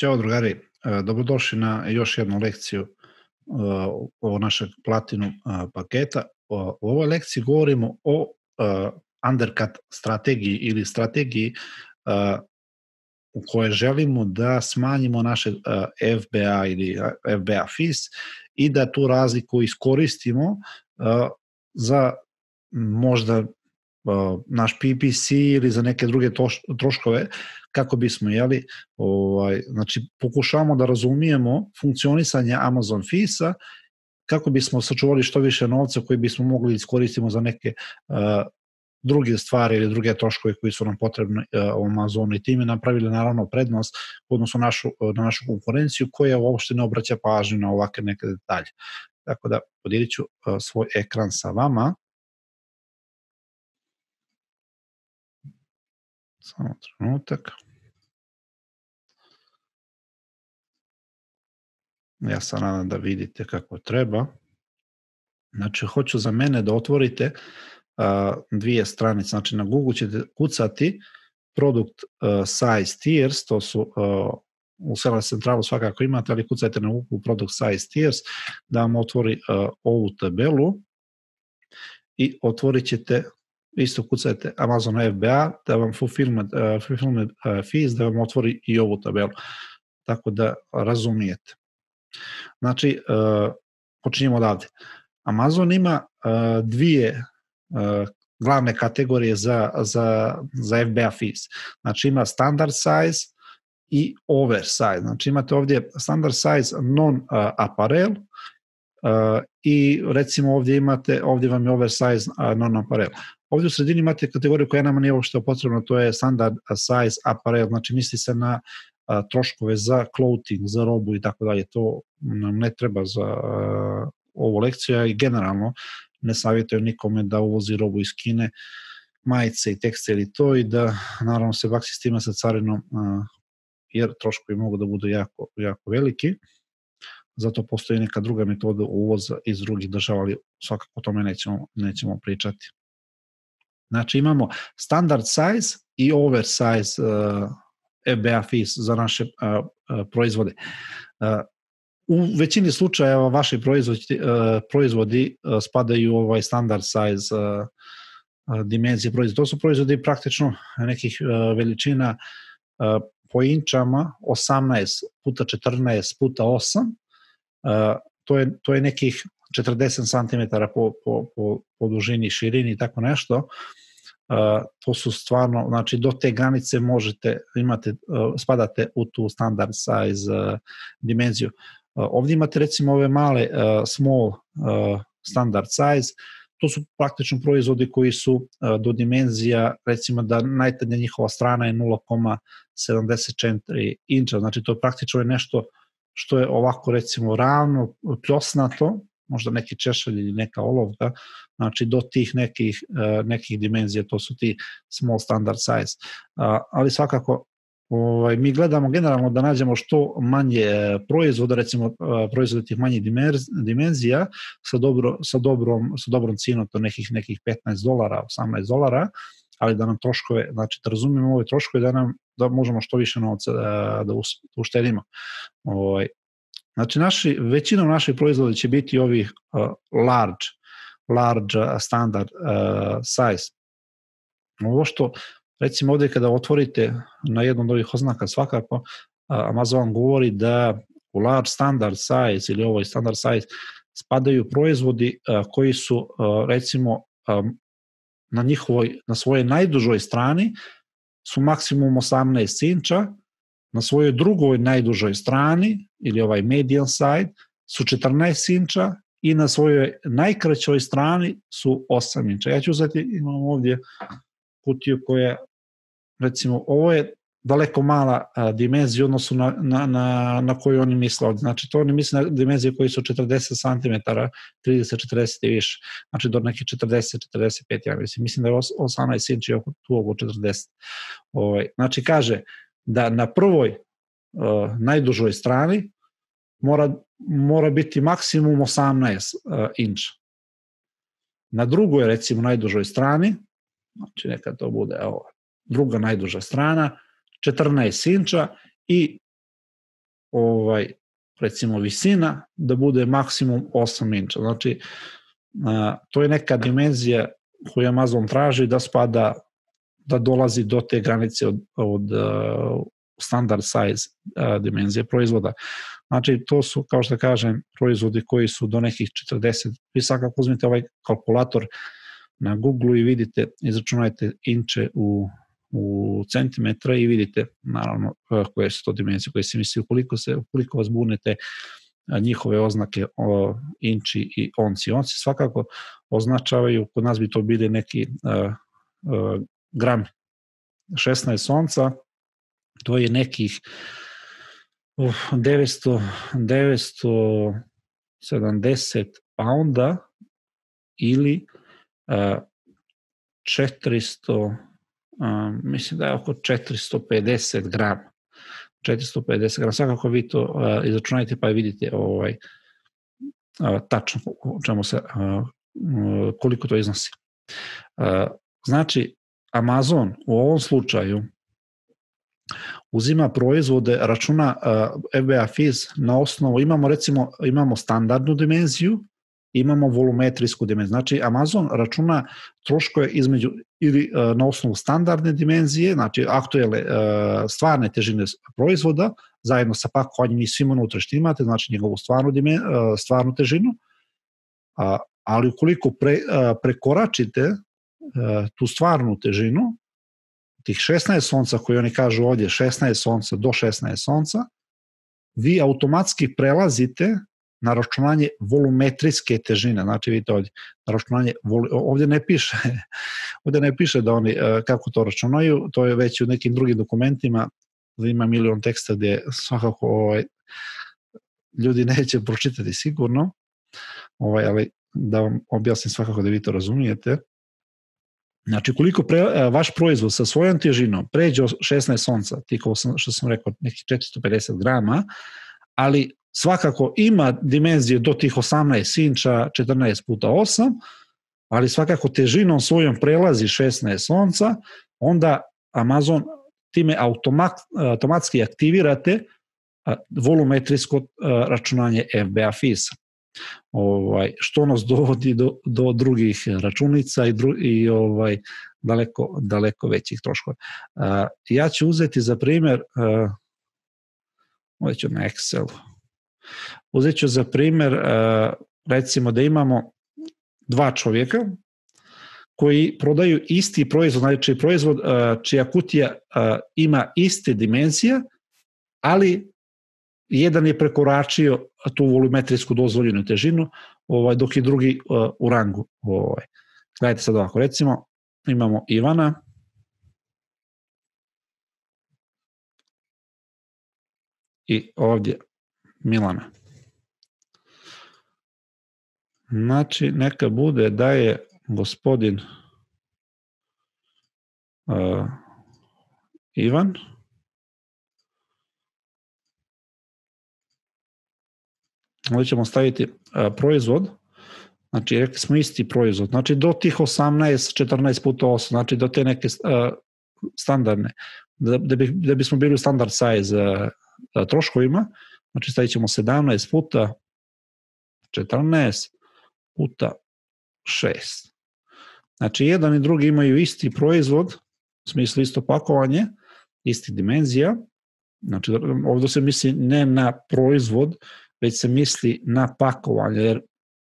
Ćao drugari, dobrodošli na još jednu lekciju ovo našeg Platinum paketa. U ovoj lekciji govorimo o undercut strategiji ili strategiji u kojoj želimo da smanjimo naše FBA ili FBA fees i da tu razliku iskoristimo za možda naš PPC ili za neke druge troškove kako bismo znači pokušamo da razumijemo funkcionisanje Amazon Feesa kako bismo sačuvali što više novca koji bismo mogli iskoristiti za neke druge stvari ili druge troškove koji su nam potrebni u Amazonu i time napravili naravno prednost u odnosu na našu konkurenciju koja uopšte ne obraća pažnju na ovakve neke detalje. Tako da podijelit ću svoj ekran sa vama. Samo trenutak. Ja se nadam da vidite kako treba. Znači, hoću za mene da otvorite dvije stranice. Znači, na Google ćete kucati Product Size Tiers, to su u Seller Centralu svakako imate, ali kucajte na Google Product Size Tiers da vam otvori ovu tabelu i otvorit ćete, isto kucajte Amazon FBA da vam fulfillment fees, da vam otvori i ovu tabelu. Tako da razumijete. Znači, počinjemo odavde. Amazon ima dvije glavne kategorije za FBA fees. Znači, ima standard size i oversize. Znači, imate ovdje standard size non-apparel i recimo ovdje vam je oversize non-apparel. Ovdje u sredini imate kategoriju koja nama nije uopšte potrebna, to je standard size apparel, znači misli se na troškove za clothing, za robu i tako dalje. To nam ne treba za ovu lekciju i generalno ne savjetujem nikome da uvozi robu iz Kine, majice i tekstil i to i da naravno se baksi s tima sa carinom jer troškovi mogu da budu jako, jako veliki. Zato postoji neka druga metoda uvoza iz drugih država, ali svakako o tome nećemo pričati. Znači imamo standard size i oversize FBA fees za naše proizvode. U većini slučajeva vaši proizvodi spadaju u ovaj standard size dimenzije proizvoda. To su proizvodi praktično nekih veličina po inčama 18 puta 14 puta 8. To je nekih 40 cm po dužini, širini i tako nešto. To su stvarno, znači do te granice spadate u tu standard size dimenziju. Ovdje imate recimo ove male small standard size, to su praktično proizvodi koji su do dimenzija, recimo da najtanja njihova strana je 0,74 inča, znači to praktično je nešto što je ovako recimo ravno, pljosnato, možda neki češalj ili neka olovka, znači do tih nekih dimenzija, to su ti small standard size. Ali svakako mi gledamo generalno da nađemo što manje proizvoda, recimo proizvode tih manjih dimenzija sa dobrom cijenom, to nekih $15, $18, ali da nam troškove, znači da razumijemo ove troškove, da možemo što više novca da uštedimo. Znači, većinom naših proizvoda će biti ovih large standard size. Ovo što, recimo ovdje kada otvorite na jednom od ovih oznaka svakako, Amazon govori da u large standard size ili ovoj standard size spadaju proizvodi koji su recimo na svojoj najdužoj strani su maksimum 18 inča, na svojoj drugoj najdužoj strani, ili ovaj median side, su 14 inča i na svojoj najkraćoj strani su 8 inča. Ja ću uzeti, imam ovdje kutiju koja, recimo, ovo je daleko mala dimenzija u odnosu na koju oni misle ovdje. Znači, to oni misle na dimenzije koji su 40 cm, 30-40 i više. Znači, do nekih 40-45, ja mislim da je 18 inči tu oko 40. Znači, kaže da na prvoj najdužoj strani mora biti maksimum 18 inča. Na drugoj, recimo, najdužoj strani, znači neka to bude druga najduža strana, 14 inča i recimo visina, da bude maksimum 8 inča. Znači, to je neka dimenzija koju Amazon traži da spada, da dolazi do te granice od standard size dimenzije proizvoda. Znači, to su, kao što kažem, proizvodi koji su do nekih 40. Vi svakako uzmite ovaj kalkulator na Google i vidite, izračunajte inče u centimetra i vidite, naravno, koje su to dimenzije, koje se misli, ukoliko vas bunete njihove oznake inči i onci. Onci svakako označavaju, kod nas bi to bili neki gram. 16 onca, to je nekih 970 pounda ili 400, mislim da je oko 450 grama. 450 grama, svakako vi to izračunajte pa vidite tačno koliko to iznosi. Znači, Amazon u ovom slučaju uzima proizvode, računa FBA-FIS na osnovu, imamo standardnu dimenziju, imamo volumetrijsku dimenziju. Znači, Amazon računa troškove između ili na osnovu standardne dimenzije, znači aktuelne stvarne težine proizvoda, zajedno sa pakovanjem i svim unutra što imate, znači njegovu stvarnu težinu, ali ukoliko prekoračite tu stvarnu težinu, tih 16 onca koje oni kažu ovdje, 16 onca do 16 onca, vi automatski prelazite na računanje volumetrijske težine. Znači vidite ovdje, ovdje ne piše da oni kako to računaju, to je već u nekim drugim dokumentima, da ima milion teksta gdje svakako ljudi neće pročitati sigurno, ali da vam objasnim svakako da vi to razumijete. Znači, koliko vaš proizvod sa svojom težinom pređe 16 onca, što sam rekao, nekih 450 grama, ali svakako ima dimenzije do tih 18 inča, 14 puta 8, ali svakako težinom svojom prelazi 16 onca, onda Amazon time automatski aktivirate volumetrijsko računanje FBA-FIS-a. Što nas dovodi do drugih računica i daleko većih troškova. Ja ću uzeti za primjer, ovdje ću na Excel, uzet ću za primjer, recimo da imamo dva čovjeka koji prodaju isti proizvod, znači proizvod čija kutija ima iste dimenzije, ali jedan je prekoračio tu volumetrijsku dozvoljenu težinu, dok je drugi u rangu. Gledajte sad ovako, recimo imamo Ivana i ovdje Milana. Znači, neka bude da je gospodin Ivan ovdje ćemo staviti proizvod, znači rekli smo isti proizvod, znači do tih 18, 14 puta 8, znači do te neke standardne, da bismo bili u standard size troškovima, znači stavit ćemo 17 puta 14 puta 6. Znači jedan i drugi imaju isti proizvod, u smislu isto pakovanje, isti dimenzija, znači ovdje se misli ne na proizvod, već se misli na pakovanje, jer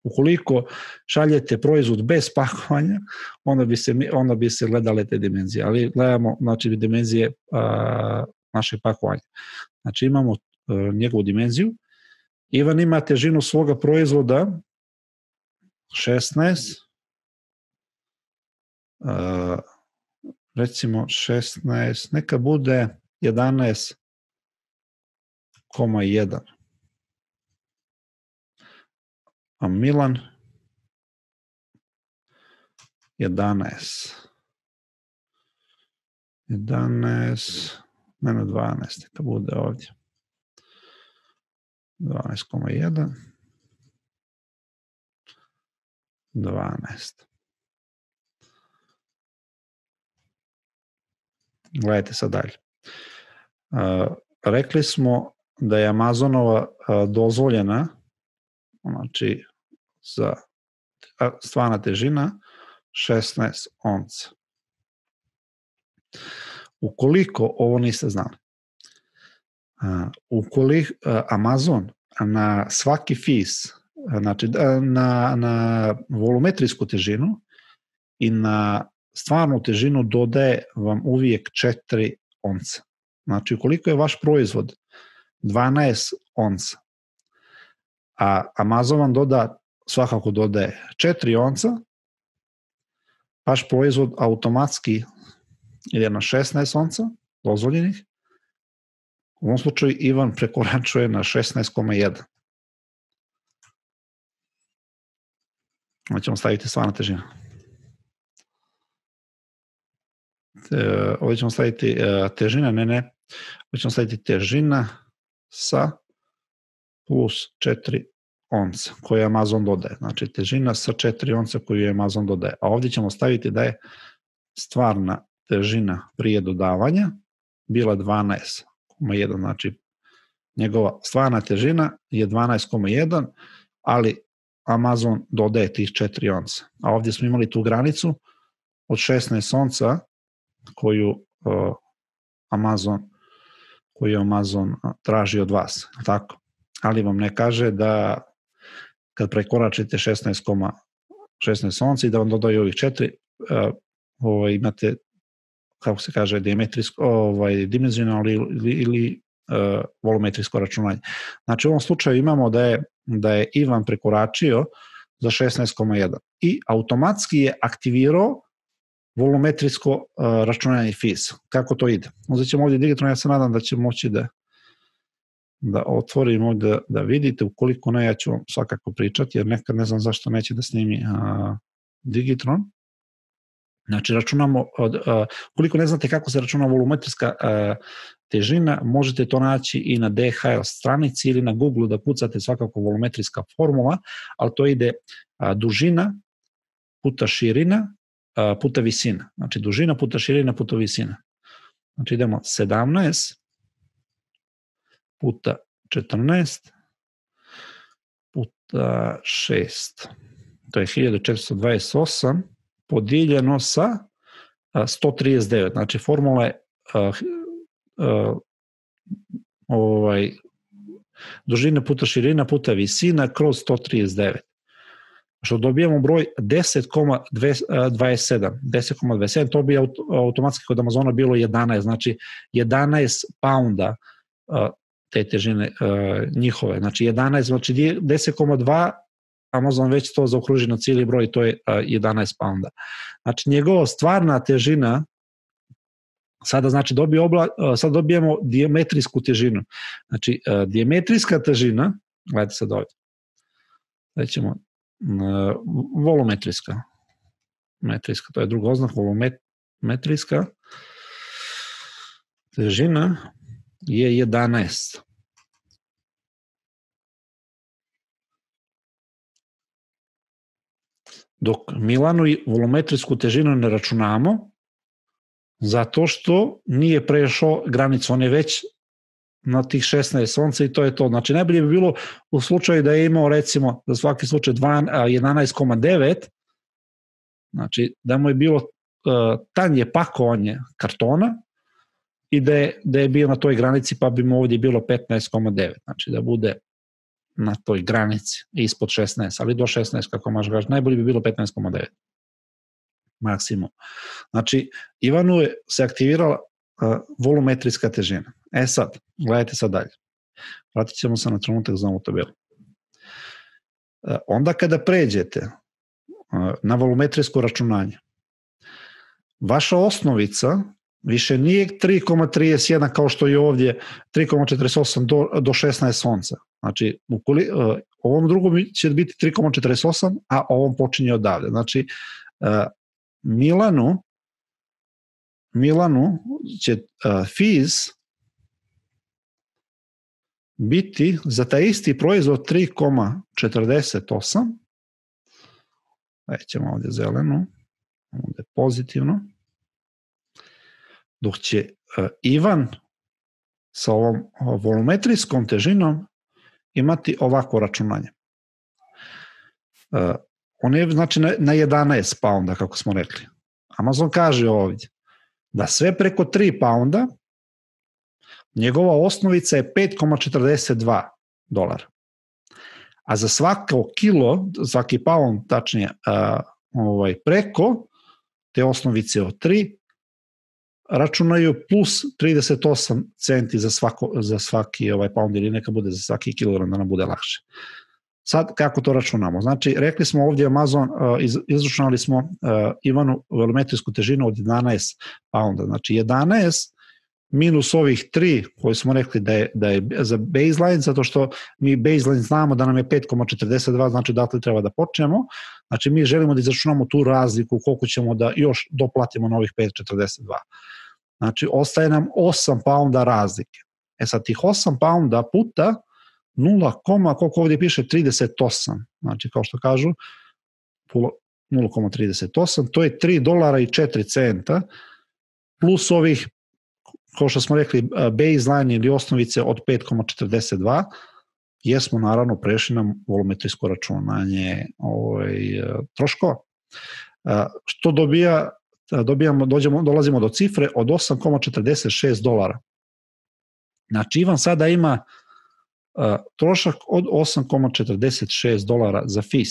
ukoliko šaljete proizvod bez pakovanja, onda bi se gledale te dimenzije, ali gledamo znači, dimenzije našeg pakovanja. Znači imamo njegovu dimenziju. Ivan ima težinu svoga proizvoda 16, recimo 16, neka bude 11,1. A Milan 11, ne 12, neka bude ovdje. 12,1, 12. Gledajte sad dalje. Rekli smo da je Amazonova dozvoljena, znači za stvarna težina 16 onca. Ukoliko ovo niste znali, ukoliko Amazon na svaki fis, znači na volumetrijsku težinu i na stvarnu težinu dodaje vam uvijek 4 onca. Znači, ukoliko je vaš proizvod 12 onca, a Amazon vam svakako dodaje 4 onca, vaš proizvod automatski ide na 16 onca dozvoljenih. U ovom slučaju Ivan prekoračuje na 16,1. Ovdje ćemo staviti stvarna težina. Ovdje ćemo staviti težina, ovdje ćemo staviti težina sa plus 4 onca koje Amazon dodaje. Znači težina sa 4 onca koju Amazon dodaje. A ovdje ćemo staviti da je stvarna težina prije dodavanja bila 12,1. Znači njegova stvarna težina je 12,1, ali Amazon dodaje tih 4 onca. A ovdje smo imali tu granicu od 16 onca koju Amazon traži od vas. Tako. Ali vam ne kaže da kad prekoračite 16 onca i da vam dodaju ovih 4, imate, kako se kaže, dimenzionalno ili volumetrijsko računanje. Znači u ovom slučaju imamo da je Ivan prekoračio za 16,1 i automatski je aktivirao volumetrijsko računanje FIS. Kako to ide? Uzet ćemo ovdje digitalno, ja se nadam da će moći da otvorimo, da vidite. Ukoliko ne, ja ću vam svakako pričati, jer nekad ne znam zašto neće da snimi Digitron. Znači, računamo, ukoliko ne znate kako se računa volumetrijska težina, možete to naći i na DHL stranici ili na Google da kucate svakako volumetrijska formula, ali to ide dužina puta širina puta visina. Znači, dužina puta širina puta visina. Znači, idemo 17 puta 14 puta 6. To je 1428 podijeljeno sa 139. Znači, formula je dužina puta širina puta visina kroz 139. Što dobijemo broj 10,27. 10,27, to bi automatski kod Amazona bilo 11, znači 11 pounda te težine njihove. Znači 11, znači 10,2, Amazon već to zaokruži na cijeli broj, to je 11 pounda. Znači njegova stvarna težina, sada znači sad dobijemo dijametrijsku težinu. Znači dijametrijska težina, gledajte sad ovdje, da ćemo volumetrijska, to je druga oznaka, volumetrijska težina je 11. Dok Milanu volumetrijsku težinu ne računamo, zato što nije prešao granicu, on je već na tih 16 onca i to je to. Znači najbolje bi bilo u slučaju da je imao recimo za svaki slučaj 11,9, znači da mu je bilo tanje pakovanje kartona i da je bio na toj granici, pa bi mu ovdje bilo 15,9, znači da bude na toj granici ispod 16, ali do 16 kako možeš gaži, najbolje bi bilo 15,9 maksimum. Znači Ivanu je se aktivirala volumetrijska težina. Sad, gledajte sad dalje. Vratit ćemo se na trenutak za ovu tabelu. Onda kada pređete na volumetrijsko računanje, vaša osnovica više nije 3,31 kao što je ovdje 3,48 do 16 onca. Znači, ovom drugom će biti 3,48, a ovom počinje odavde. Znači, Milanu će FIS biti za taj isti proizvod 3,48. Ćemo ovdje zelenu, ovdje pozitivno. Dok će Ivan sa ovom volumetrijskom težinom imati ovako računanje. On je znači na 11 pounda, kako smo rekli. Amazon kaže ovdje da sve preko 3 pounda njegova osnovica je $5,42. A za svako kilo, svaki pound, tačnije preko te osnovice od 3, računaju plus 38 centi za svaki pound, ili neka bude za svaki kilogram, da nam bude lakše. Sad, kako to računamo? Znači, rekli smo ovdje Amazon, izračunali smo Ivanu volumetrijsku težinu od 11 pounda. Znači, 11 minus ovih 3 koje smo rekli da je za baseline, zato što mi baseline znamo da nam je 5,42, znači dakle treba da počnemo. Znači, mi želimo da izračunamo tu razliku koliko ćemo da još doplatimo na ovih 5,42. Znači, ostaje nam 8 pounda razlike. Sad, tih 8 pounda puta 0, koliko ovdje piše, 38. Znači, kao što kažu, 0,38, to je $3.04 plus ovih, kao što smo rekli, baseline ili osnovice od 5,42, jer smo naravno prešli na volumetrijsko računanje troškova. Što dolazimo do cifre od $8,46. Znači, Ivan sada ima trošak od $8,46 za fees.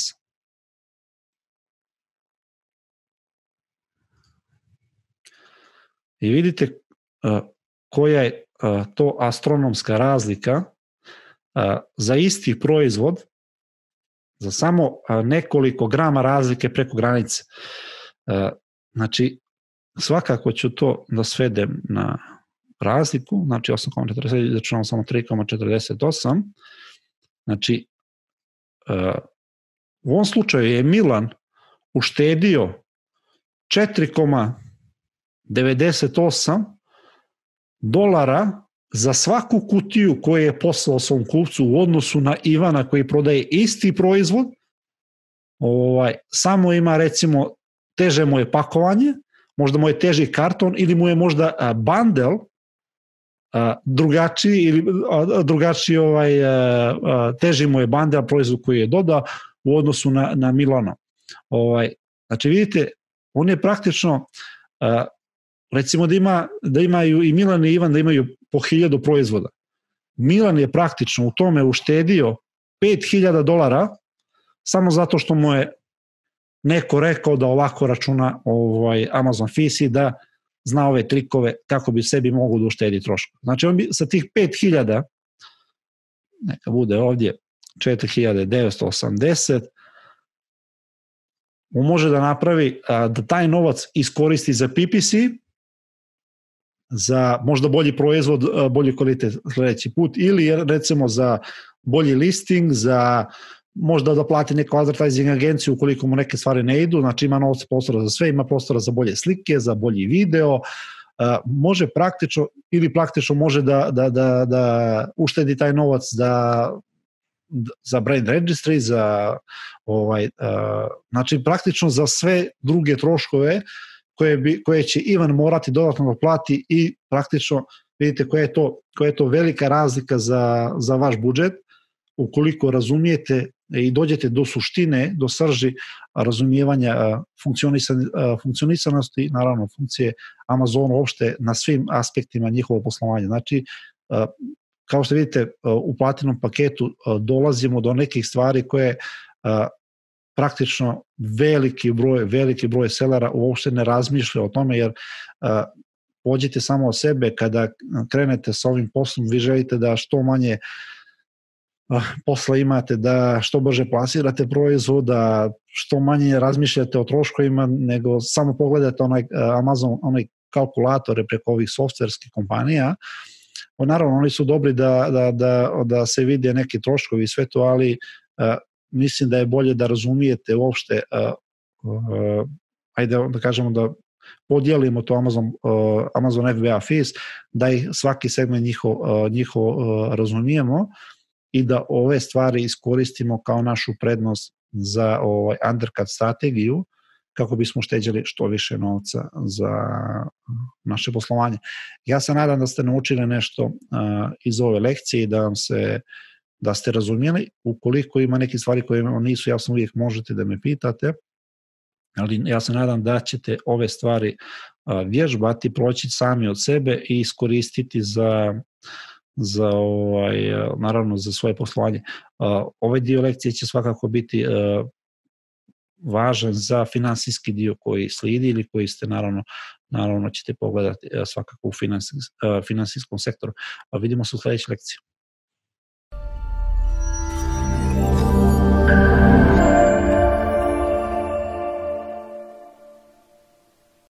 I vidite koja je to astronomska razlika za isti proizvod, za samo nekoliko grama razlike preko granice. Znači, svakako ću to da svedem na razliku, znači 8,47, izračunamo samo 3,48. Znači, u ovom slučaju je Milan uštedio $4,98 za svaku kutiju koju je poslao svom kupcu u odnosu na Ivana koji prodaje isti proizvod. Samo ima, recimo, teže mu je pakovanje, možda mu je teži karton ili mu je možda bundle drugačiji, ili drugačiji teži mu je bundle proizvod koji je dodao u odnosu na Milano. Znači, vidite, on je praktično, recimo da imaju i Milan i Ivan da imaju po 1000 proizvoda. Milan je praktično u tome uštedio $5,000 samo zato što mu je neko rekao da ovako računa Amazon fees i da zna ove trikove kako bi sebi mogu da uštedi troškove. Znači, on bi sa tih 5.000, neka bude ovdje 4.980, on može da napravi da taj novac iskoristi za PPC, za možda bolji proizvod, bolji kvalitet sledeći put, ili recimo za bolji listing, za možda da plati neku advertising agenciju ukoliko mu neke stvari ne idu. Znači, ima novca, prostora za sve, ima prostora za bolje slike, za bolji video, može praktično može da uštedi taj novac za brand registry, znači praktično za sve druge troškove koje će Ivan morati dodatno da plati, i praktično vidite koja je to velika razlika za vaš budžet ukoliko razumijete i dođete do suštine, do srži razumijevanja funkcionisanosti, naravno funkcije Amazona uopšte na svim aspektima njihovog poslovanja. Znači, kao što vidite, u Platinum paketu dolazimo do nekih stvari koje praktično veliki broj selera uopšte ne razmišlja o tome, jer pođite samo o sebe, kada krenete sa ovim poslom, vi želite da što manje posla imate, da što brže plasirate proizvod, da što manje razmišljate o troškovima, nego samo pogledate Amazon, onaj kalkulatore preko ovih softverskih kompanija. Naravno, oni su dobri da se vide neki troškovi i sve to, ali mislim da je bolje da razumijete uopšte, ajde da kažemo da podijelimo to Amazon FBA fees, da ih svaki segment njihov razumijemo i da ove stvari iskoristimo kao našu prednost za undercut strategiju, kako bismo ušteđeli što više novca za naše poslovanje. Ja se nadam da ste naučili nešto iz ove lekcije i da ste razumjeli. Ukoliko ima neke stvari koje vam nisu jasne, uvijek možete da me pitate, ali ja se nadam da ćete ove stvari vježbati, proći sami od sebe i iskoristiti naravno za svoje poslovanje. Ovaj dio lekcije će svakako biti važan za finansijski dio koji slijedi ili koji ste naravno ćete pogledati svakako u finansijskom sektoru. Vidimo se u sljedećoj lekciji.